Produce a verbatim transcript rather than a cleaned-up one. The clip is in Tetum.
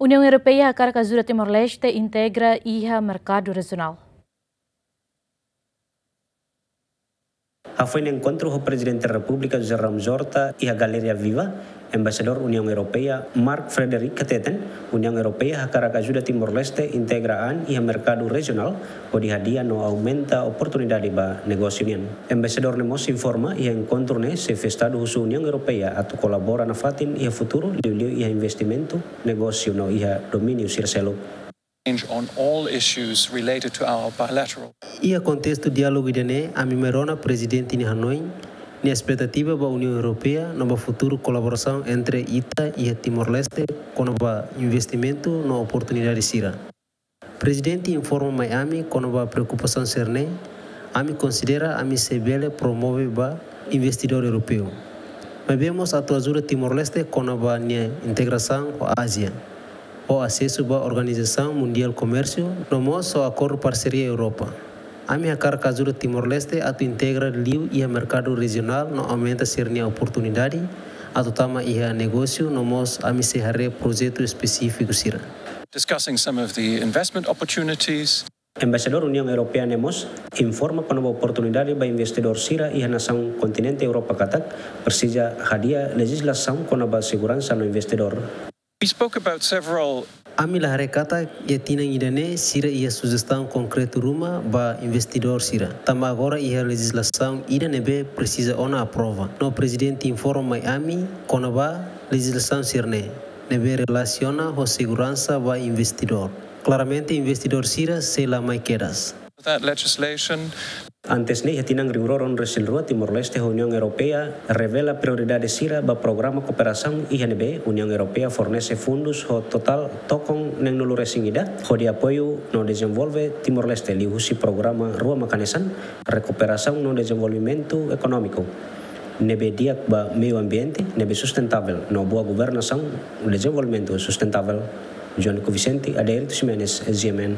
Uniaun Europeia hakarak ajuda Timor-Leste integra iha merkadu rejionál. Hafoin enkontru ho Prezidente Repúblika José Ramos Horta iha Galeria Viva, Embaixadór Uniaun Europeia Mark Frederick hateten, Uniaun Europeia hakarak ajuda Timor-Leste integra an iha merkadu rejionál, hodi hadi'a no aumenta oportunidade ba negósiu nian. Embaixadór ne'e mós informa iha enkontru ne'e xefe Estadu husu Uniaun Europeia atu kolabora nafatin iha futuru, liuliu iha investimentu, negósiu no iha domíniu sira seluk. On all issues related to our bilateral. Iha kontestu diálogu ida-ne'e, ami mai rona Prezidente nia hanoin, nia espetativa ba Uniaun Europeia no ba futuru kolaborasaun entre ita iha Timor-Leste kona-ba investimentu no oportunidade sira. Prezidente informa mai ami kona-ba preokupasaun sira-ne'e, ami konsidera ami sei bele promove ba investidór europeu. Maibé mós atu ajuda Timor-Leste kona-ba nia integrasaun ho Ázia, ho asesu ba Organizasaun Mundiál Komérsiu, no mós ho akordu parseria Europa. Ami hakarak ajuda Timor-Leste atu integra liu iha merkadu rejionál no aumenta sira-nia oportunidade atu tama iha negósiu, no mós ami sei haree projetu espesífiku sira. Discussing some of the investment opportunities. Embaixadór Uniaun Europeia ne'e mós informa kona-ba oportunidade ba investidór sira iha nasaun kontinente Europa katak presiza hadi'a lejizlasaun kona-ba seguransa no investidór. We spoke about several. Ami la haree katak iha tinan ida-ne'e sira iha sujestaun konkretu ruma ba investidór sira. Tanba agora iha lejizlasaun ida ne'ebé presiza ona aprova. No Prezidente informa mai ami kona-ba lejizlasaun sira-ne'e, ne'ebé relasiona ho seguransa ba investidór. Klaramente investidór sira sei la mai kedas. That legislation. Antes ne'e, iha tinan rihun rua ruanulu-resin-rua, Timor-Leste ho Uniaun Europeia revela prioridade sira ba programa kooperasaun iha ne'ebé Uniaun Europeia fornese fundus ho totál tokon neen-nulu-resin-ida hodi apoiu no dezenvolve Timor-Leste liuhusi programa rua mak hanesan rekuperasaun no dezenvolvimentu ekonómiku ne'ebé di'ak ba meiu ambiente ne'ebé sustentável no boa governasaun, dezenvolvimentu sustentável. João Vicente, Adérito Ximenes, G M N.